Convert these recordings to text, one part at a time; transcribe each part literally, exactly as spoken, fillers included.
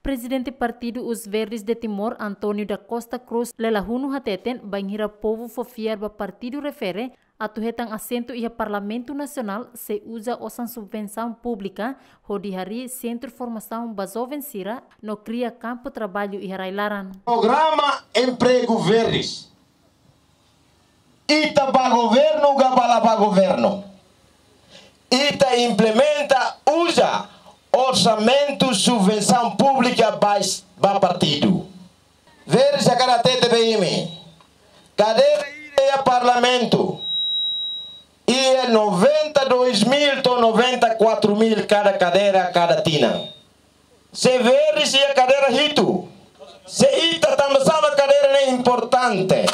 Prezidente Partidu Os Verdes de Timor, António da Costa Cruz, Lela Hunu, hateten bainhira povu fó fiar ba partidu refere atu hetan asentu iha Parlamentu Nasionál, sei uza osan subvensaun públika hodi harii sentru formasaun ba joven sira no kria kampu traballu iha rai-laran. Programa Emprego Verdes. Ita bá governu ka la bá governu, ita implementa, uza orsamentu subvensaun públika ba, ba partidu. Verdes hakarak hatete ba imi, kadeira ida iha Parlamentu iha noventa e dois mil to'o noventa e quatro mil kada kadeira kada tinan. Se Verdes iha kadeira hitu, se ita tanba sá mak kadeira ne'e importante?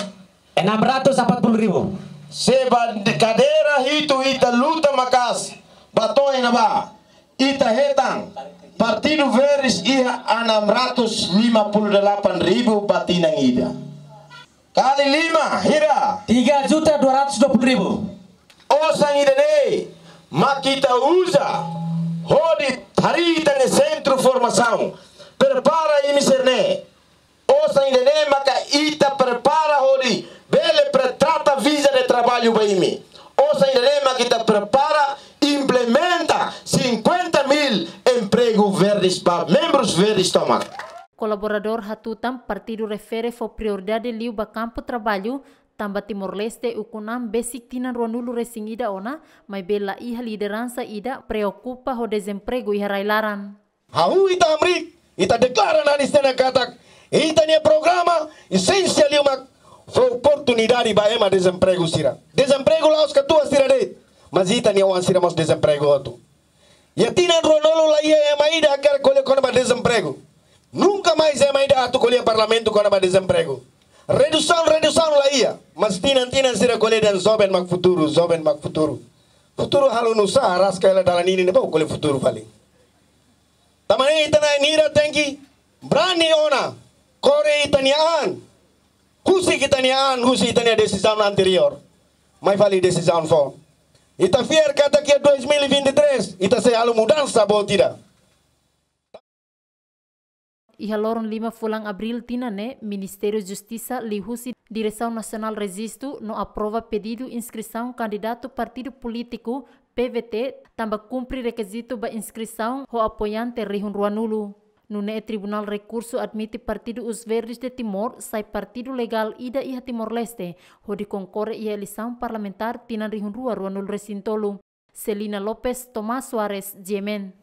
Enam ratus empat puluh ribu. Se ba kadeira hitu ita luta maka'as ba to'o iha ne'ebá, ita hetan Partidu Verdes iha enam ratus lima puluh delapan ribu ba tinan ida. Kali lima, hira? Tiga juta dua ratus dua puluh ribu. Osan ida-ne'e mak ita uza hodi harii ita-nia sentru formasaun. Prepara imi sira-ne'e. Osan ida-ne'e maka ita prepara hodi bele pre-, trata viza de traballu ba imi. Osan ida-ne'e maka ita prepara, implementa cinquenta mil empregu Verdes ba membrus Verdes tomak. Kolaboradór hatutan partidu refere fó prioridade liu ba kampu traballu, tanba Timor-Leste ukun an besik tinan ruanulu-resin-ida ona, maibé la iha lideransa ida preokupa ho dezempregu iha rai-laran. Ha'u, ita hamriik, ita deklara nanis tiha ona katak ita-nia programa esensiál liu mak fó oportunidade ba ema dezempregu sira. Dezempregu la'ós katuas sira de'it, mas ita-nia oan sira mós dezempregu hotu. Iha tinan ruanulu la iha ema ida hakerek ko'alia kona-ba dezempregu. Nunka mais ema ida atu ko'alia Parlamentu kona-ba dezempregu. Redusaun, redusaun la iha, mas tinan-tinan sira ko'alia dehan joven mak futuru, joven mak futuru. Futuru halo nusá, araska hela dalan ida-ne'e, bá ko'alia futuru fali. Tanba ne'e ita na'in hira tenke brani ona, kore ita-nia an, husik ita-nia an husi ita-nia desizaun anteriór. Mai fali desizaun foun. Ita fiar katak iha dois mil e vinte e três ita sei halo mudansa boot ida. Iha loron lima fulan Abríl tinan ne'e, Ministériu Justisa liuhusi Diresaun Nasionál Rejistu no aprova pedidu inskrisaun kandidatu partidu polítiku, P V T, tanba kumpre rekizitu ba inskrisaun ho apoiante rihun ruanulu. Nune'e Tribunál Rekursu admite Partidu Os Verdes de Timor sai partidu legál ida iha Timor-Leste hodi konkorre iha eleisaun parlamentár tinan rihun rua ruanulu-resin-tolu. Celina Lopes, Tomás Soares, G M N.